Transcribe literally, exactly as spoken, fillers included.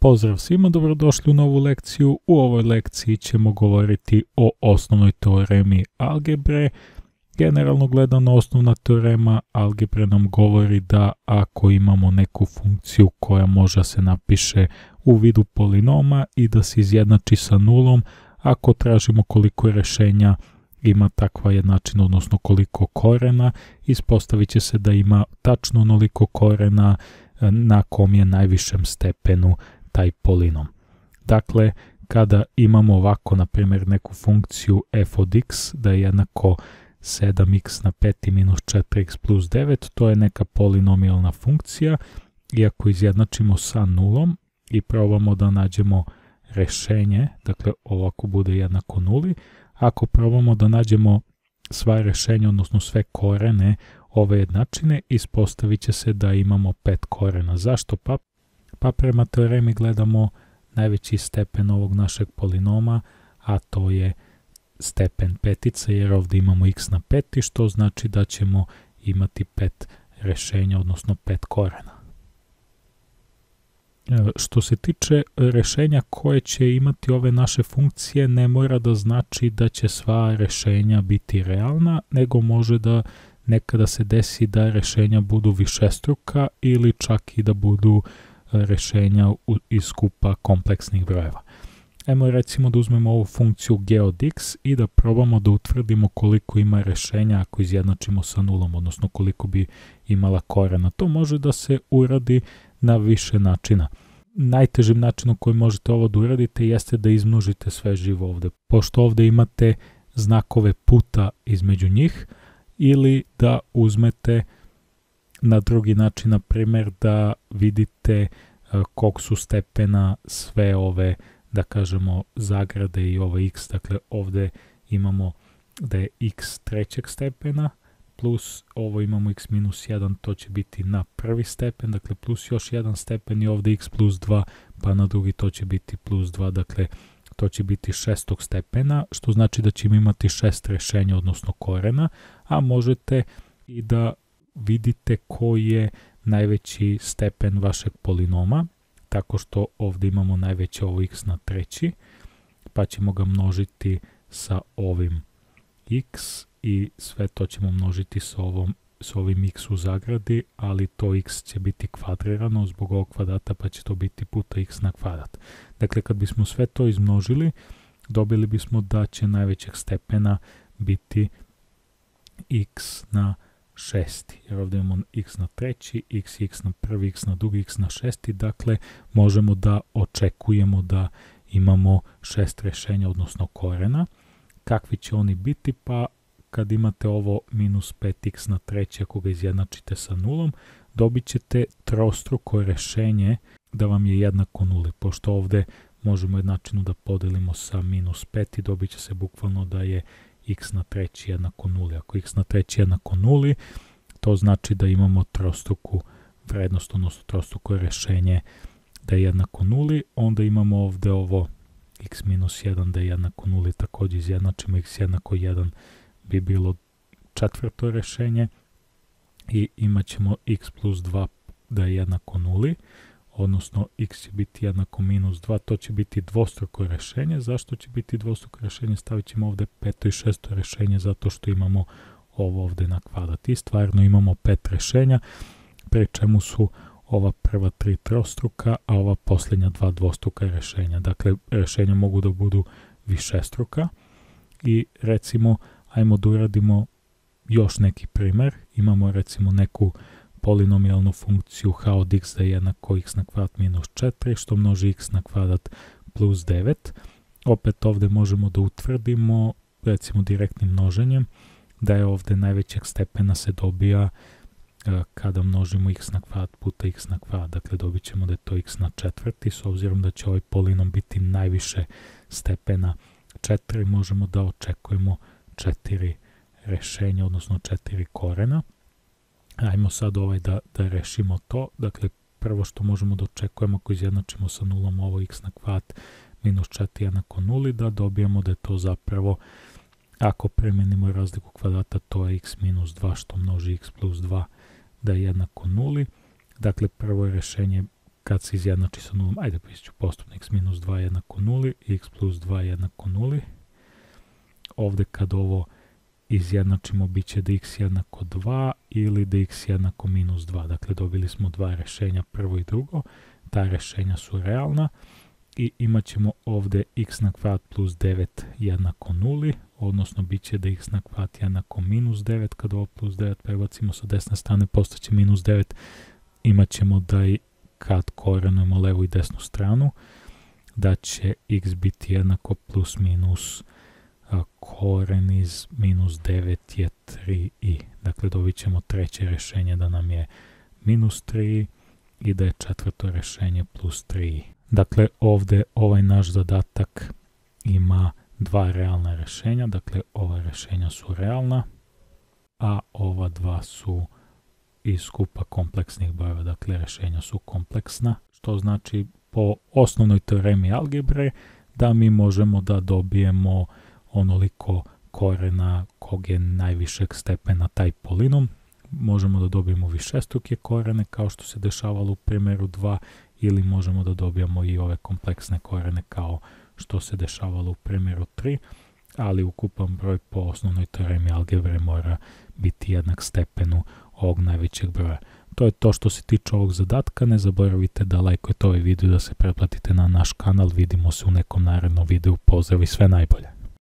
Pozdrav svima, dobrodošli u novu lekciju. U ovoj lekciji ćemo govoriti o osnovnoj teoremi algebre. Generalno gledano, osnovna teorema algebre nam govori da ako imamo neku funkciju koja može se napiše u vidu polinoma i da se izjednači sa nulom, ako tražimo koliko rješenja ima takva jednačina, odnosno koliko korena, ispostavit će se da ima tačno onoliko korena na kom je najvišem stepenu taj polinom. Dakle, kada imamo ovako, na primjer, neku funkciju f od x da je jednako sedam x na pet minus četiri x plus devet, to je neka polinomijalna funkcija, i ako izjednačimo sa nulom i probamo da nađemo rješenje, dakle ovako bude jednako nuli, ako probamo da nađemo sva rješenja, odnosno sve korene ove jednačine, ispostavit će se da imamo pet korena. Zašto? Pa, pa prema teoremi gledamo najveći stepen ovog našeg polinoma, a to je stepen petice, jer ovdje imamo x na pet, što znači da ćemo imati pet rješenja, odnosno pet korena. Što se tiče rješenja koje će imati ove naše funkcije, ne mora da znači da će sva rješenja biti realna, nego može da nekada se desi da rješenja budu višestruka ili čak i da budu rješenja iz skupa kompleksnih brojeva. Ajmo recimo da uzmemo ovu funkciju g od x i da probamo da utvrdimo koliko ima rješenja ako izjednačimo sa nulom, odnosno koliko bi imala korena. To može da se uradi na više načina. Najtežim načinom koji možete ovo da uradite jeste da izmnožite sve živo ovdje, pošto ovdje imate znakove puta između njih, ili da uzmete na drugi način, na primjer da vidite kog su stepena sve ove, da kažemo, zagrade i ovo x. Dakle, ovdje imamo da je x trećeg stepena, plus ovo imamo x minus jedan, to će biti na prvi stepen, dakle plus još jedan stepen, i ovdje x plus dva, pa na drugi to će biti plus dva, dakle to će biti šestog stepena, što znači da ćemo imati šest rješenja, odnosno korena, a možete i da vidite koji je najveći stepen vašeg polinoma, tako što ovdje imamo najveće ovo x na treći, pa ćemo ga množiti sa ovim x i sve to ćemo množiti sa, ovom, sa ovim x u zagradi, ali to x će biti kvadrirano zbog ovog kvadrata, pa će to biti puta x na kvadrat. Dakle, kad bismo sve to izmnožili, dobili bismo da će najvećeg stepena biti x na šesti, jer ovdje imamo x na treći, x, x na prvi, x na drugi, x na šesti, dakle možemo da očekujemo da imamo šest rješenja, odnosno korena. Kakvi će oni biti? Pa kad imate ovo minus pet x na treći, ako ga izjednačite sa nulom, dobit ćete trostruko rješenje da vam je jednako nuli, pošto ovdje možemo jednačinu da podelimo sa minus pet i dobit će se bukvalno da je x na treći jednako nuli. Ako x na treći jednako nuli, to znači da imamo trostruku vrednost, odnosno trostruko rješenje da je jednako nuli. Onda imamo ovdje ovo x minus jedan da je jednako nuli, također izjednačimo, x jednako jedan bi bilo četvrto rješenje, i imat ćemo x plus dva da je jednako nuli, odnosno x će biti jednako minus dva, to će biti dvostruko rješenje. Zašto će biti dvostruko rješenje? Stavit ćemo ovdje peto i šesto rješenje, zato što imamo ovo ovdje na kvadrat. I stvarno imamo pet rješenja, pri čemu su ova prva tri trostruka, a ova posljednja dva dvostruka rješenja. Dakle, rješenja mogu da budu višestruka. I recimo, ajmo da uradimo još neki primjer. Imamo recimo neku polinomijalnu funkciju h od x da je jednako x na kvadrat minus četiri, što množi x na kvadrat plus devet. Opet ovdje možemo da utvrdimo, recimo direktnim množenjem, da je ovdje najvećeg stepena se dobija e, kada množimo x na kvadrat puta x na kvadrat. Dakle, dobit ćemo da je to x na četvrti, s obzirom da će ovaj polinom biti najviše stepena četiri, možemo da očekujemo četiri rješenja, odnosno četiri korena. Ajmo sad ovaj da, da rešimo to. Dakle, prvo što možemo da očekujemo ako izjednačimo sa nulom ovo x na kvadrat minus četiri jednako nuli, da dobijemo da je to zapravo, ako premenimo razliku kvadrata, to je x minus dva što množi x plus dva da je jednako nuli. Dakle, prvo rješenje kad se izjednači sa nulom, ajde pisat ću postupno x minus dva jednako nuli, x plus dva jednako nuli. Ovdje kad ovo izjednačimo bit će da x jednako dva ili da x jednako minus dva. Dakle, dobili smo dva rješenja, prvo i drugo. Ta rješenja su realna i imat ćemo ovdje x na kvadrat plus devet jednako nuli, odnosno bit će da x na kvadrat jednako minus devet. Kad ovo plus devet prebacimo sa desne strane, postaće minus devet. Imat ćemo da i kad korenujemo levu i desnu stranu, da će x biti jednako plus minus a, koren iz minus devet je tri i. Dakle, dobit ćemo treće rješenje da nam je minus tri i da je četvrto rješenje plus tri. Dakle, ovdje ovaj naš zadatak ima dva realna rješenja, dakle ova rješenja su realna, a ova dva su iz skupa kompleksnih brojeva, dakle rješenja su kompleksna, što znači po osnovnoj teoremi algebre da mi možemo da dobijemo onoliko korena kog je najvišeg stepena taj polinom. Možemo da dobijemo višestruke korene kao što se dešavalo u primjeru dva, ili možemo da dobijemo i ove kompleksne korene kao što se dešavalo u primjeru tri, ali ukupan broj po osnovnoj teoremi algebre mora biti jednak stepenu ovog najvećeg broja. To je to što se tiče ovog zadatka. Ne zaboravite da lajkujete ovaj video i da se pretplatite na naš kanal. Vidimo se u nekom narednom videu. Pozdrav i sve najbolje!